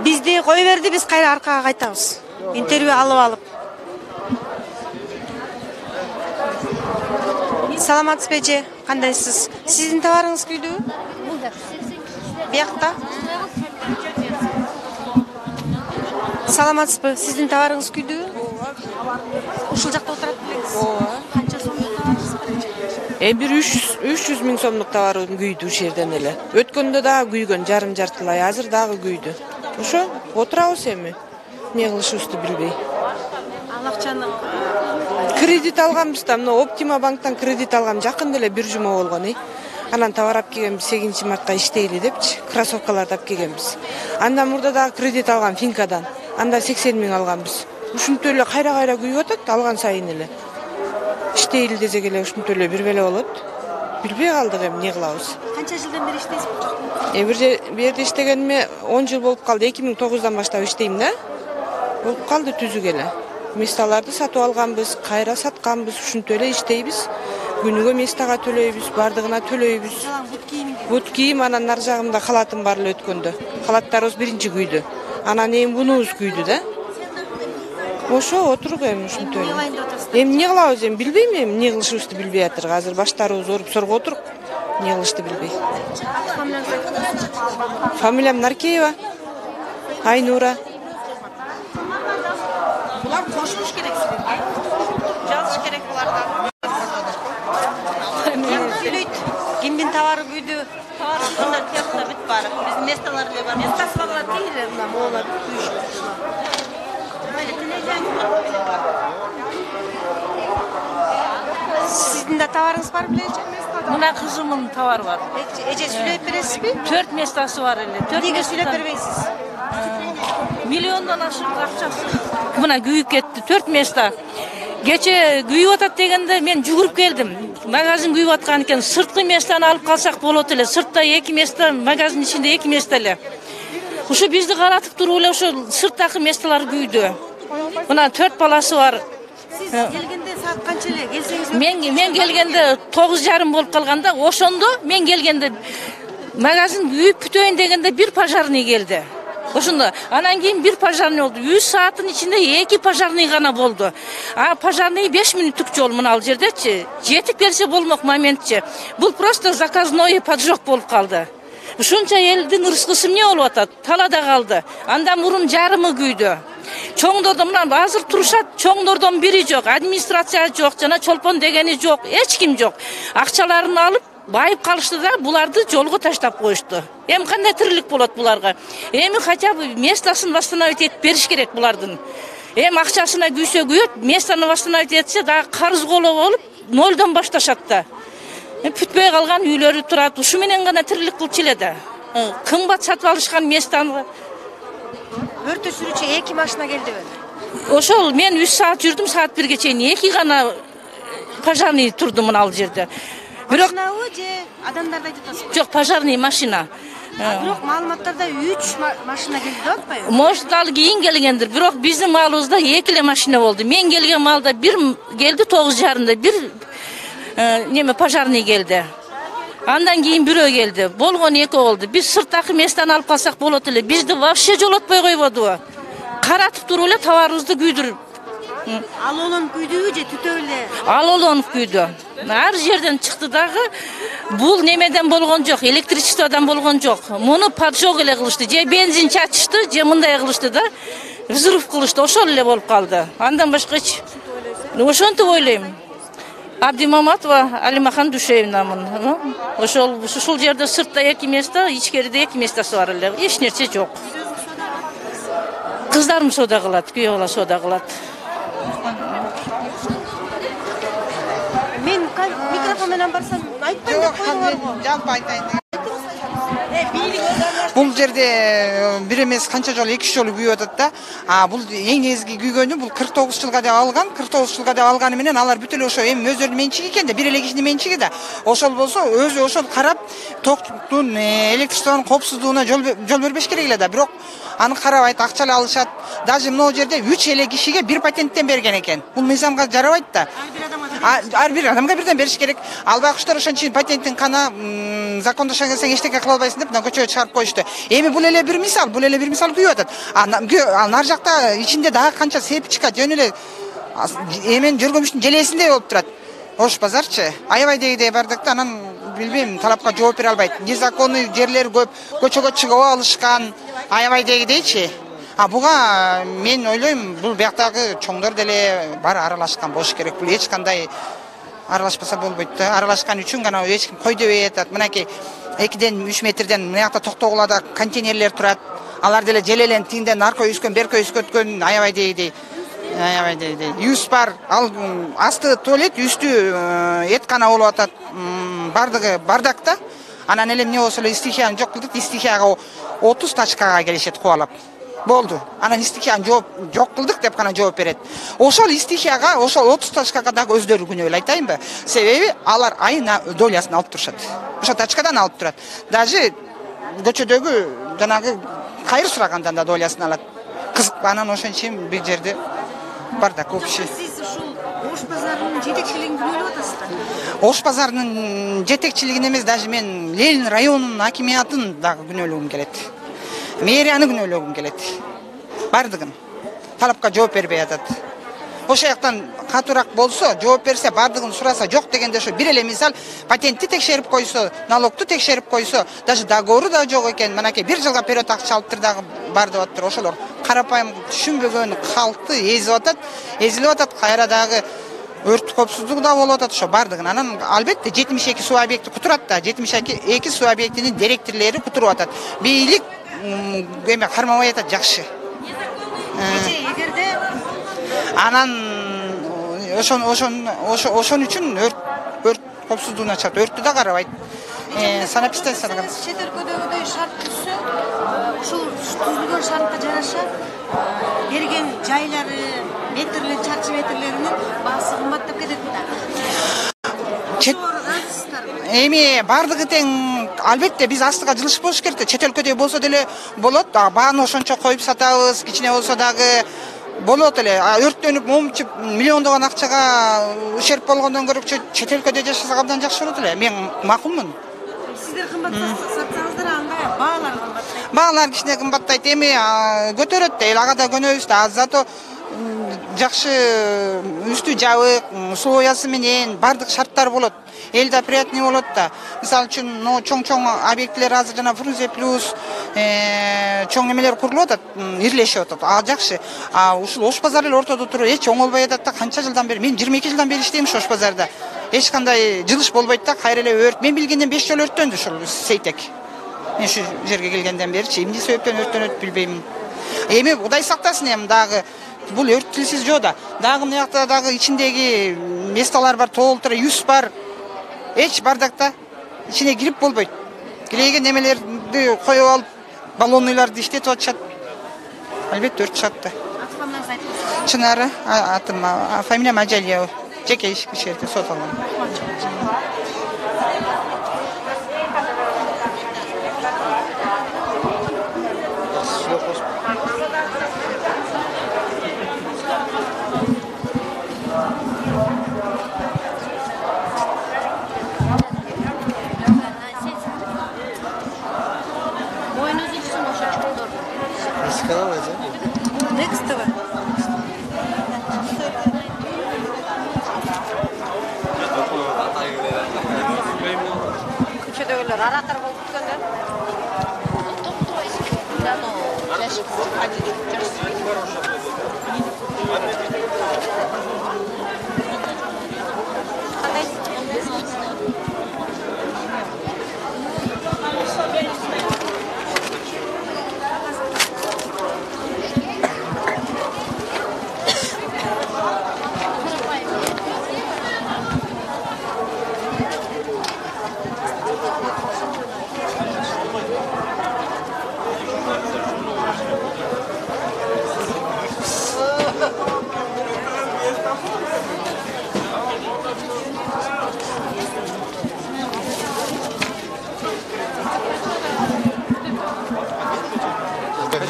Бизди кое берди, биз кайра аркага кайтабыз. Интервью алып алып. Саламатсызбы эже? Кандайсыз? Сиздин товарыңыз күйдүбү? Биякта. Саламатсызбы? Сиздин товарыңыз күйдүбү? Ушул жакта отурат белеңиз? Ооба. Канча сомдук товарыңыз бар эже? Бир 300 миң сомдук товарым күйдү ушул жерден эле. Өткөндө дагы күйгөн, жартылай, азыр дагы күйдү. Ошо отурабыз эми. Эмне кылышыбызды билбей. Ал акчаны Кредит алганбыз да, мына Оптима банктан кредит алгам жакында эле бир жума болгон. Анан товар алып келгенбиз 8-мартка иштейли депчи, кроссовкаларды алып келгенбиз. Андан мурда дагы кредит алгам Финкадан. Анда 80 миң алганбыз. Ушунтип эле кайра күйүп атат, алган сайын эле. Иштейли десек эле ушунтип эле бир беле болот. Билбей калдык эми эмне кылабыз. канча жылдан бери иштейсиз бул жакта? Бу жерде иштегениме 10 жыл болуп калды. 2009-дан баштап иштейм да. Болуп калды түзүк эле. Месталарды сатып алганбыз, кайра сатканбыз, ушунтип эле иштейбиз. Күнүгө местага төлөйбүз, бардыгына төлөйбүз. Бут кийим, анан нар жагымда халатым бар эле өткөндө. Халаттарыбыз биринчи күйдү. Анан эми бунубуз күйдү да. Ошо отуруп эми ушинтип эле. Эми эмне кылабыз, эми билбейм, эми эмне кылышыбызды билбей атырк. Азыр баштарыбыз ооруп сорго отурук. Эмне кылышты билбей. Фамилиям Наркеева. Айнура. Булар кошулуш керек силерге. Жазыш керек буларга. Кимдин товары күйдү? Товар тиякта бүт бар. Биздин месталар эле бар. Местасы багыла тийилер мына моолар күйүшүп. Сиздин да товарыңыз бар беле эже? Мына кызымдын товары бар. Эже сүйлөп бересизби? 4 местасы бар эле. Эмнеге сүйлөп бербейсиз? Миллиондон ашык акчасы. Мына күйүп кетти. 4 места. Кече күйүп атат дегенде мен жүгүрүп келдим. Магазин күйүп аткан экен. Сырткы местаны алып калсак болот эле. Сыртта 2 места, магазин ичинде 2 места эле. Ушу бизди каратып туруп эле ошо сырттагы месталар күйдү. Мына 4 баласы бар. Сиз келгенде саат канча эле? Келсеңиз Мен келгенде 9:30 болуп калганда, ошондо мен келгенде магазин күйүп бүтөйүн дегенде бир пожарный келди. Ошондо анан кийин бир пожарный болду. 3 сааттын ичинде 2 пожарный гана болду. А пожарный 5 мүнөттүк жол мына ал жердечи. Жетип келсе болмок моментчи. Бул просто заказной поджог болуп калды. Ушунча элдин ырыскысы эмне болуп атат? Талада калды. Андан мурун жарымы күйдү. Чоңдордон мына азыр турушат, чоңдордон бири жок, администрация жок, жана чолпон дегени жок, эч ким жок. Акчаларын алып байып калышты да, буларды жолго таштап коюшту. Эми кандай тирилик болот буларга? Эми хотя бы местасын восстановить этип бериш керек булардын. Эми акчасына күйсө күйөт, местаны восстановить этсе дагы карыз коло болуп, нолдон башташат да. Бүтпөй калган үйлөрү турат, ушу менен гана тирилик кылчу эле да. Кымбат сатып алышкан местаны. өртө сүрүүчү 2 машина келдиби? Ошол мен 3 саат жүрдүм, саат 1ге чейин 2 гана пожарный турду мына ал жерде. Бирок Машинабы же адамдарды айтып атасызбы? жок, пожарный машина. Бирок маалыматтарда 3 машина келди деп атпайбы? Может ал кийин келгендир, бирок биздин маалыбызда 2 эле машина болду. Мен келген маалда бир келди 9:30-да, бир неме пожарный келди. Андан кийин бирөө келди. Болгон 2 болду. Биз сырттагы местаны алып калсак болот эле. Бизди вообще жолотпой койбодубу? Каратып туруп эле товарыбызды күйдүрүп Ал олонуп күйдүбү же түтө эле? Ал олонуп күйдү. Ар жерден чыкты дагы. Бул немеден болгон жок, электричестводан болгон жок. Муну поджог эле кылышты, же бензин чачышты, же мындай кылышты да. Взрыв кылышты, ошол эле болуп калды. Андан башка ошентип ойлойм. Абдимаматова Алимахан Душевнамын. Ошол жерде сыртта 2 место, ичкериде 2 местосы бар эле. Эч нерсе жок. Кыздарым сода кылат, күйөө бала сода кылат. Мен микрофон менен барсам айтпайм деп койдуңар го. Жалпы айтайын. Бул жерде бир эмес канча жолу 2 жолу күйүп атат да. Бул эң негизги күйгөнү бул 49 жылга деп алган. 49 жылга деп алганы менен алар бүт эле ошо эми өздөрүнүн менчиги экен да, бир эле кишинин менчиги да. Ошол болсо өзү ошол карап токтун, электричествонун коопсуздугуна жол бербеш керек эле да. Бирок аны карабайт, акчалай алышат. Даже могу жерде 3 эле кишиге бир патенттен берген экен. Бул мыйзамга жарабайт да. Ар бир адамга бирден бериш керек. Албай куштар ошончо патенттин кана закондошо келсең эчтеке кыла албайсың деп көчөгө чыгарып коюшту. Эми бул эле бир мисал күйүп атат. Ал нар жакта ичинде дагы канча сепчика жөн эле эмен жөргөмүштүн желесиндей болуп турат. Ош базарчы. Аябай дегидей бардык да, анан билбейм, талапка жооп бере албайт. Незаконный жерлер көп, көчөгө чыгып алышкан, аябай дегидейчи. Буга мен ойлойм, бул бияктагы чоңдор деле бар аралашкан болуш керек. Бул эч кандай аралашпаса болбойт да. Аралашкан үчүн гана эч ким кой дебей атат. Мынакей 2-3 метрден мынакта токтогулада контейнерлер турат. Алар деле желелен тиңден нарко үскөн, берко үскөткөн, аябай дегидей. Юз бар, ал асты туалет, үстү эткана болуп атат. Бардыгы бардак да. Анан эле эмне болсо эле стихияны жок кылдык, стихияга 30 тачкага келишет кубалап. Болду. Анан стихияны жок кылдык деп гана жооп берет. Ошол стихияга, ошол 30 тачкага дагы өздөрү күнөөлүү айтайынбы? Себеби алар айына долясын алып турушат. Ошо тачкадан алып турат. Даже көчөдөгү жанагы кайыр сурагандан да долясын алат. Кызык, анан ошончо бир жерде бардак общий. Сиз ушул Ош базарынын жетекчилигин күнөөлөп атасыздар? Ош базарынын жетекчилигин эмес, даже мен Ленин районунун акимиятын дагы күнөөлөгүм келет. Мэрияны күнөөлөгүм келет. Бардыгын талапка жооп бербей атат. Ошол жактан катуураак болсо, жооп берсе, бардыгын сураса, жок дегенде ошо бир эле мисал патентти текшерип койсо, налогту текшерип койсо, даже договору да жок экен. Мынакей 1 жылга вперед акча алыптыр дагы бар деп атат. Ошолор карапайым түшүнбөгөн калкты эзилип атат. Кайра дагы өрт коопсуздугу да болуп атат. Ошо бардыгын. Анан албетте 72 суу объекти кутурат да. 72 суу объектинин директорлору кутуруп атат. Бийлик эме кармабай атат, жакшы. Эгерде анан ошон үчүн өрт коопсуздугуна чыгат. Өрттү да карабайт. Санэпидстанцияга чет өлкөдөгүдөй шарт түзсө, ошол түзүлгөн шартка жараша берген жайлары, метрлер, чарчы метрлеринин баасы кымбаттап кетет да. Эми бардыгы тең, албетте биз астыга жылышып болуш керек да. Чет өлкөдөй болсо деле болот. Бааны ошончо коюп сатабыз, кичине болсо дагы болот эле. Өрттөнүп, момчуп, миллиондогон акчага ущерб болгондон көрө чет өлкөдө жашасак абдан жакшы болот эле. Мен макулмун. Сиздер кымбат сатсаңыздар, андай баалар кымбаттайт. Баалар кичине кымбаттайт. Эми көтөрөт да, ага да көнөбүз да. Зато жакшы үстү жабык, условиясы менен бардык шарттар болот. Элде приятный болот да. Мисалы үчүн, чоң объектилер азыр жана Фрунзе плюс чоң эмелер курулуп атат, ирлешип атат. Жакшы. Ушул Ош базары эле ортодо туруп эч оңолбой атат да. Канча жылдан бери? Мен 22 жылдан бери иштейм Ош базарда. Эч кандай жылыш болбойт да. Кайра эле өрт. Мен билгенден 5 жолу өрттөндү ушул Сейтек. Мен ушу жерге келгенден беричи эмне себептен өрттөнөт билбейм. Эми Кудай сактасын, эми дагы бул өрт тилсиз жоо да. Дагы мына жакта дагы ичиндеги месталар бар, толтура, юз бар. Эч бардакта ичине кирип болбойт. Кирейген немелерди коюп алып, баллонныйларды иштетип атышат. Албетте өрт чыгат да. Атыңызды айтыңыз. Чынары, атым, фамилиям Ажалиева. Жеке иш кишилерге сот алгам. Next TV. көчөлөр аратор болуп бүткөндө.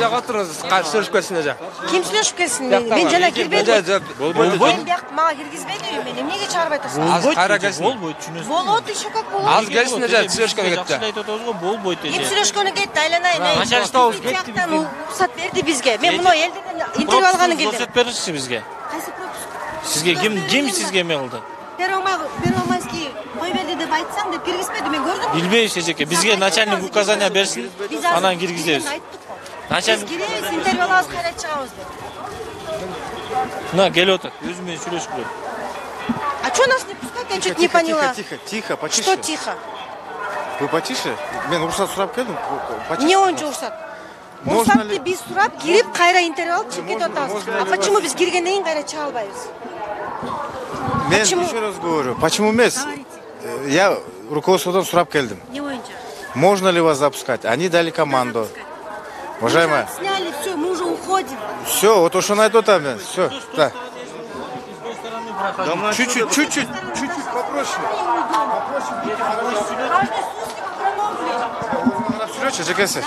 Жака отуруңуз, сүйлөшүп келсин эже. Ким сүйлөшүп келсин? Мен жана кирбедим. Болбойт. Мен бияк мага киргизбейди, мен эмнеге чыгарбай атасың? Азыр кайра келсин. Болбойт, түшүнөсүз. Болот, иши как болот? Азыр келсин эже, сүйлөшкөнгө кетти. Жакшы айтып атабыз го, болбойт эже. Ким сүйлөшкөнгө кетти, айланайын. Начальствобуз кетти бизге. Уруксат берди бизге. Мен муну элдерден интервью алганы келдим. Уруксат беришти бизге. Кайсы пропуск? Сизге ким сизге эме кылды? Первомайский кой берди деп айтсаң деп киргизбеди, мен көрдүм. Билбейбиз эжеке, бизге начальник указания берсин, анан киргизебиз. Начальник киребиз, интервью алабыз, кайра чыгабыз деп. На, келип атат, өзү менен сүйлөшүп келет. А что нас не пускают? Я что-то не поняла. Тихо, потише. Что тихо? Вы потише? Мен уруксат сурап келдим. Не ончо уруксат. Уруксатты биз сурап кирип, кайра интервью алып чыгып кетип атабыз. А почему биз киргенден кийин кайра чыга албайбыз? Мен еще раз говорю, почему эмес? Я руководстводон сурап келдим. Не боюнча? Можно ли вас запускать? Они дали команду. Уважаемая. Сняли, все, мы уже уходим. Все, вот ошону айтып атам мен. Все, да. Чуть-чуть попроще.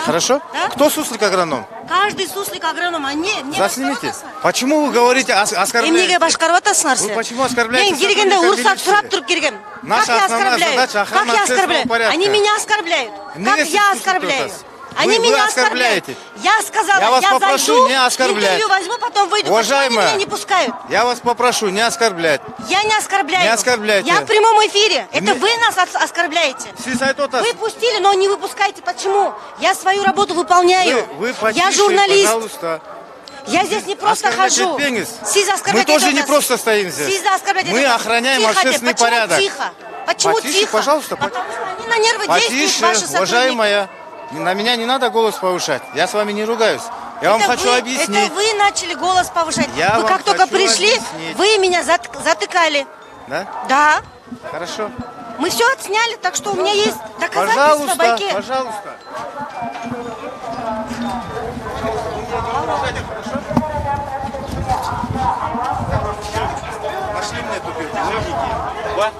Хорошо? Да? Кто суслик агроном? Каждый суслик агроном, а не Заснимите. Почему вы говорите оскорбляете? Эмнеге башкарып атасыңар Вы силер? почему оскорбляете? Мен киргенде уруксат сурап туруп киргем. Как я оскорбляю? Как я оскорбляю? Они меня оскорбляют. Как я оскорбляю? Они меня оскорбляют. Я сказала, я вас попрошу зайду, не оскорблять. интервью возьму, потом выйду. Уважаемая, почему они меня не пускают? Я вас попрошу не оскорблять. Я не оскорбляю. Не оскорбляйте. Я в прямом эфире. Это вы нас оскорбляете. Вы пустили, но не выпускаете. Почему? Я свою работу выполняю. Вы потише, я журналист. Пожалуйста. Я здесь не просто хожу. Мы тоже не просто стоим здесь. Мы охраняем общественный порядок. Тихо. Почему потише, тихо? Пожалуйста. Потому что они на нервы действуют, ваши сотрудники. Уважаемая, на меня не надо голос повышать. Я с вами не ругаюсь. Я вам хочу объяснить. Это вы начали голос повышать. Я Вы как только пришли, объяснить. вы меня затыкали. Да? Да. Хорошо. Мы все отсняли, так что у меня есть доказательства, Пожалуйста, байки. пожалуйста. Нашли мне тупик. Вот.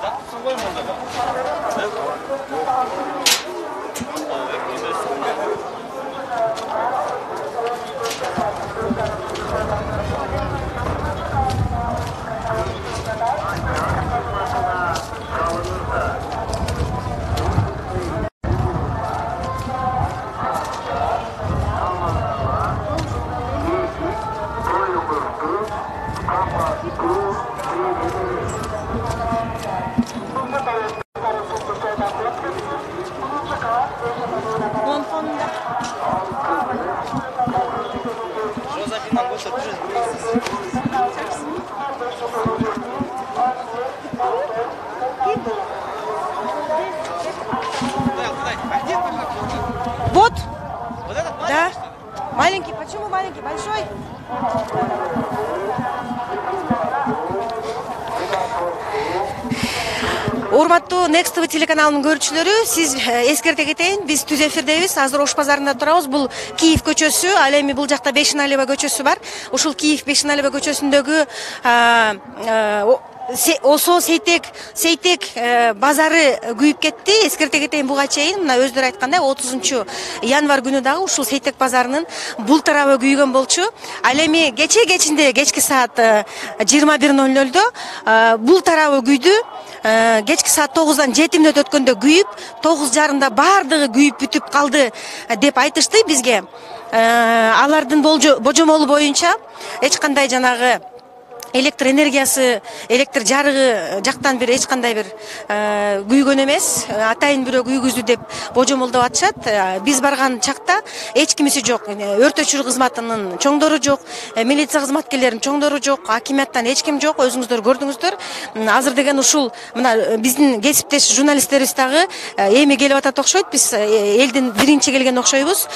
Да. Маленький. Почему маленький? Большой? Урматтуу Next TV телеканалынын көрүүчүлөрү, сиз эскерте кетейин, биз түз эфирдебиз. Азыр Ош базарында турабыз. Бул Киев көчөсү, ал эми бул жакта Бешеналиева көчөсү бар. Ушул Киев Бешеналиева көчөсүндөгү Осо Сейтек базары күйүп кетти. Эскерте кетейин, буга чейин мына өздөрү айткандай 30 январь күнү дагы ушул Сейтек базарынын бул тарабы күйгөн болчу. Ал эми кечинде кечки саат 21:00 бул тарабы күйдү. Кечки саат 9-дан 7 мүнөт өткөндө күйүп, 9:30 баардыгы күйүп бүтүп калды деп айтышты бизге. Алардын божомолу боюнча эч кандай жанагы электр энергиясы, электр жарыгы жактан бир эч кандай бир күйгөн эмес, атайын бирөө күйгүздү деп божомолдоп атышат. Биз барган чакта эч кимиси жок. Өрт өчүрүү кызматынын чоңдору жок, милиция кызматкерлеринин чоңдору жок, акимияттан эч ким жок. Өзүңүздөр көрдүңүздөр. Азыр деген ушул мына биздин кесиптеш журналисттерибиз дагы эми келип атат окшойт. Биз элдин биринчи келген окшойбуз.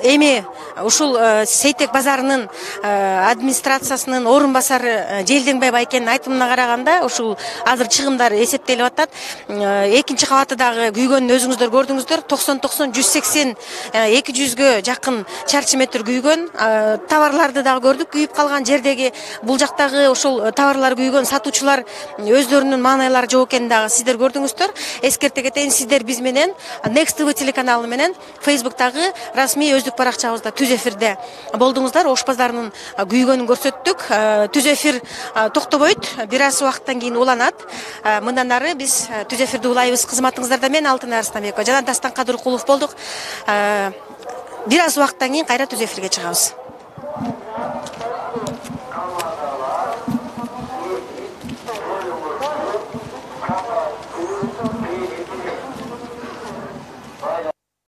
Эми ушул Сейтек базарынын администрациясынын орун басары Желденбай байкенин айтымына караганда ушул азыр чыгымдар эсептелип атат. Экинчи кабаты дагы күйгөнүн өзүңүздөр көрдүңүздөр. 90 180 200гө жакын чарчы метр күйгөн. Товарларды дагы көрдүк күйүп калган жердеги. Бул жактагы ушул товарлар күйгөн сатуучулар өздөрүнүн маанайлары жок экенин дагы сиздер көрдүңүздөр. Эскерте кетейин, сиздер биз менен Next TV телеканалы менен Facebook'тагы расмий өздүк баракчабызда түз эфирде болдуңуздар. Ош базарынын күйгөнүн көрсөттүк. Түз эфир токтобойт, бир аз убакыттан кийин уланат. Мындан ары биз түз эфирди улайбыз. Кызматыңыздарда мен Алтынай Арыстанбекова жана Дастан Кадыркулов болдук. Бир аз убакыттан кийин кайра түз эфирге чыгабыз.